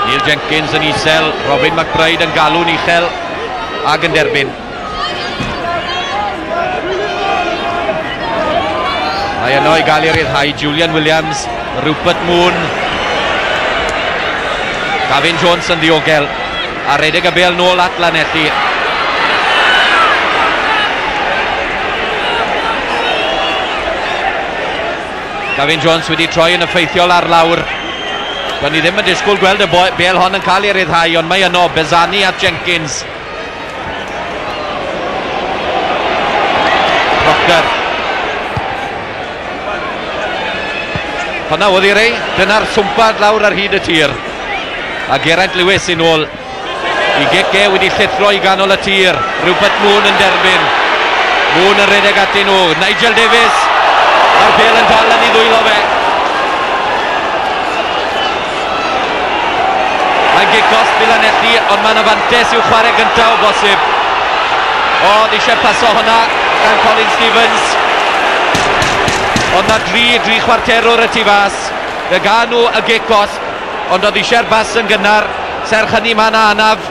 Neil Jenkins yn isel, Robin McBride yn galw'n uchel ac yn derbyn. Mae yno i gael ei ryddhau Julian Williams, Rupert Moon. Gavin Jones yn ddiogel a redeg y bêl nôl at Lanelli. Gavin Jones wedi troi yn effeithiol ar lawr. Do'n ni ddim yn disgwyl gweld y bêl hon yn cael ei ryddhau, ond mae yno Bezani at Jenkins. Proctor. Honna oedd i rei, dyna'r swmpad lawr ar hyd y tir. A Geraint Lewis yn ôl. I gic e wedi llithro i ganol y tir. Rupert Moon yn derbyn. Moon yn rhedeg atyn nhw. Nigel Davies. Mae'r bêl yn dal yn ei ddwylo fe. Mae'n gic gosb i Lanelli, ond mae'n afantes i'w chwarae gyntaf o bosib. Oedd eisiau paso hwnna gan Colin Stevens. Ond na dri chwarterwr y tu fas. Fe gael nhw y gic gosb, ond oedd eisiau'r bas yn gynnar. Serch hynny mae yna anaf.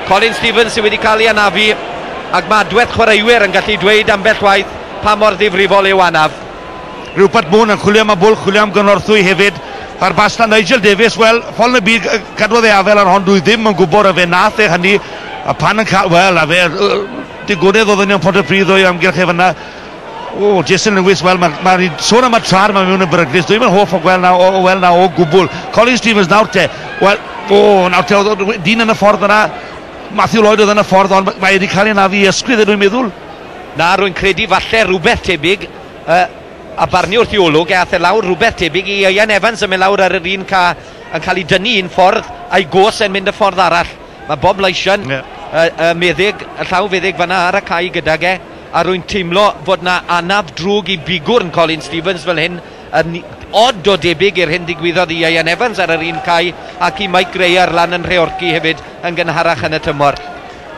Colin Stevens sydd wedi cael ei anafu, ac mae adwaith chwaraewyr yn gallu dweud ambell waith pa mor ddifrifol yw anaf. Rupert Moon yn chwilio am y bwlch, chwilio am gynorthwy hefyd. A'r bas na Nigel Davies, wel, ffordd yn y byd cadwodd ei afel ar hon, dwi ddim yn gwybod a fe nath e hynny, a pan yn cael, wel, a fe, digonedd oedd yn Pontypridd o'i amgylch e fyna. O, Jason Lewis, wel, mae'n sôn am y trar mae mewn yn beryglus, dwi'n yn hoff o gweld na, o weld na o gwbl. Colin Stevens nawr te, wel, o, nawr te, oedd dyn yn y ffordd yna, Matthew Lloyd oedd yn y ffordd, ond mae wedi cael ei anafu i ysgwydd, dwi'n meddwl. Na, rwy'n credu falle rhywbeth tebyg, a barnu wrth i olwg, aeth e lawr rhywbeth tebyg i Ian Evans yn mynd lawr ar yr un ca, yn cael ei dynnu un ffordd, a'i gos yn mynd y ffordd arall. Mae Bob Lysion, y meddyg, y llawfeddyg fanna ar y cae gydag e, a rwy'n teimlo fod na anaf drwg i bigwrn Colin Stevens fel hyn, yn od o debyg i'r hyn ddigwyddodd i Ian Evans ar yr un cae, ac i Mike Gray ar lan yn Nhreorci hefyd yn gynharach yn y tymor.